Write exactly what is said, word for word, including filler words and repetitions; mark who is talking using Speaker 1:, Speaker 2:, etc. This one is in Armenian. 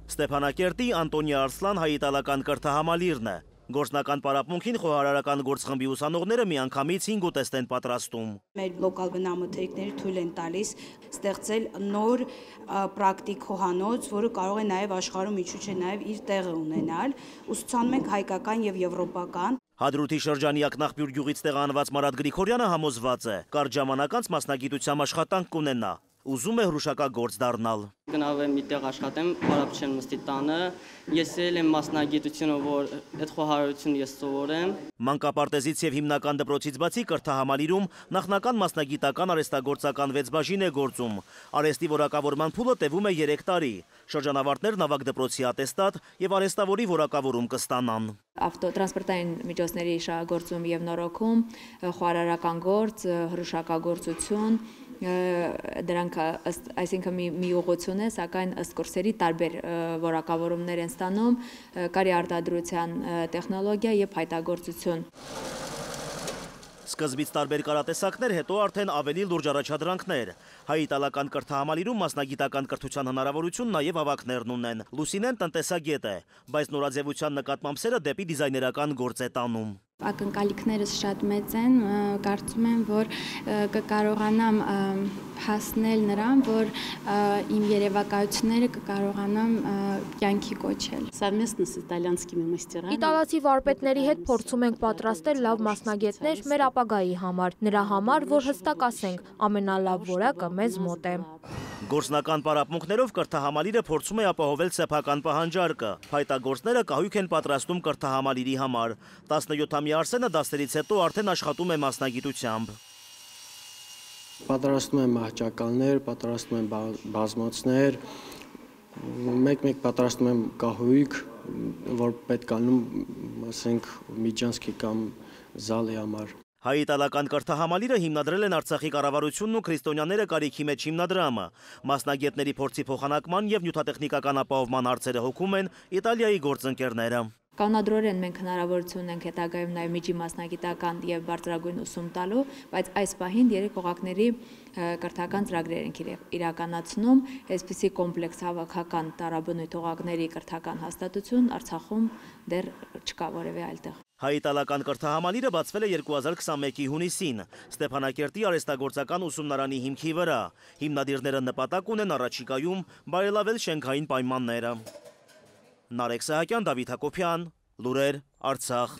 Speaker 1: Ստեփանակերտի Անտոնի Արսլան հայ-իտալական կրթահամալիրն է։ Գործնական պարապմունքին խոհարարական գործխմբի ուսանողները միանգամից հինգ ուտեստ են պատրաստում։
Speaker 2: Մեր լոկալ բնամթերքները թույլ են տալիս ստեղծել նոր պրակտիկ խոհանոց, որը կարող է նաև աշխարհում իջուչ է նաև իր տեղը ունենալ։ Ուսուցանում ենք հայկական եւ եվրոպական։
Speaker 1: Հադրութի շրջանի Ակնաղբյուր գյուղից տեղանված Մարատ Գրիգորյանը համոզված է, կարճ ժամանակ անց մասնագիտությամբ աշխատանք կունենա, ուզում է հրուշակագործ դառնալ։
Speaker 3: Գնալ մի տեղ աշխատեմ, Փարապչեն մստի տանը, ես էլ եմ մասնագիտությունը, որ այդ խոհարարությունը ես սովորեմ։
Speaker 1: Մանկապարտեզից եւ հիմնական դպրոցից բացի կրթահամալիրում նախնական մասնագիտական արհեստագործական վեց բաժին է գործում։ Արհեստի որակավորման փուլը տևում է երեք տարի։ Շրջանավարտներն ավագ դպրոցի ատեստատ եւ արհեստավորի որակավորում կստանան։
Speaker 4: Ավտոտրանսպորտային միջոցների շահագործում եւ նորոգում, խոհարարական գործ, հրուշակագործություն, դրանք այսինքն մի ուղղություն է, սակայն ըստ կուրսերի տարբեր որակավորումներ են ստանում, կարի արտադրության տեխնոլոգիա եւ փայտագործություն։
Speaker 1: Սկզբից տարբեր կարատեսակներ, հետո արդեն ավելի լուրջ առաջադրանքներ։ Հայ-իտալական կրթահամալիրում մասնագիտական կրթության հնարավորություն նաև ավագներն ունեն։ Լուսինեն տնտեսագետ է, բայց նորաձևության նկատմամբ սերը դեպի դիզայներական գործ է տանում։
Speaker 5: Ակնկալիքներս շատ մեծ են, կարծում եմ, որ կկարողանամ հասնել նրան, որ իմ երևակայությունները կկարողանամ կյանքի կոչել։
Speaker 6: Իտալացի վարպետների հետ փորձում ենք պատրաստել լավ մասնագետներ մեր ապագայի համար, նրա համար, որ հստակ ասենք, ամենալավ որակը մեզ մոտ է։
Speaker 1: Գործնական պարապմունքներով կրթահամալիրը փորձում է ապահովել սեփական պահանջարկը։ Փայտագործները կահույք են պատրաստում կրթահամալիրի համար։ տասնյոթամյա Արսենը դասերից հետո արդեն աշխատում է մասնագիտությամբ։
Speaker 7: Պատրաստում եմ մահճակալներ, պատրաստում եմ բազմոցներ, մեկ-մեկ պատրաստում եմ կահույք, որ պետք անում, ասենք, միջանցքի կամ զալի համար։
Speaker 1: Հայ-իտալական կրթահամալիրը հիմնադրել են Արցախի կառավարությունն ու քրիստոնյաները կարիքի մեջ հիմնադրամը։ Մասնագետների փորձի փոխանակման եւ նյութատեխնիկական ապահովման հարցերը հոգում են Իտալիայի գործընկերները։
Speaker 4: Կանոնադրորեն մենք հնարավորություն ունենք հետագայում նաև միջի մասնագիտական եւ բարձրագույն ուսում տալու, բայց այս պահին երեք օղակների կրթական ծրագրեր ենք իրականացնում, այսպիսի կոմպլեքս հավաքական տարաբնույթ օղակների կրթական հաստատություն Արցախում դեռ չկա որևէ այլտեղ։
Speaker 1: Հայ-իտալական կրթահամալիրը բացվել է երկու հազար քսանմեկի հունիսին Ստեփանակերտի արհեստագործական ուսումնարանի հիմքի վրա։ Հիմնադիրները նպատակ ունեն առաջիկայում բարելավել շենքային պայմանները։ Նարեկ Սահակյան, Դավիթ Հակոբյան, Լուրեր, Արցախ։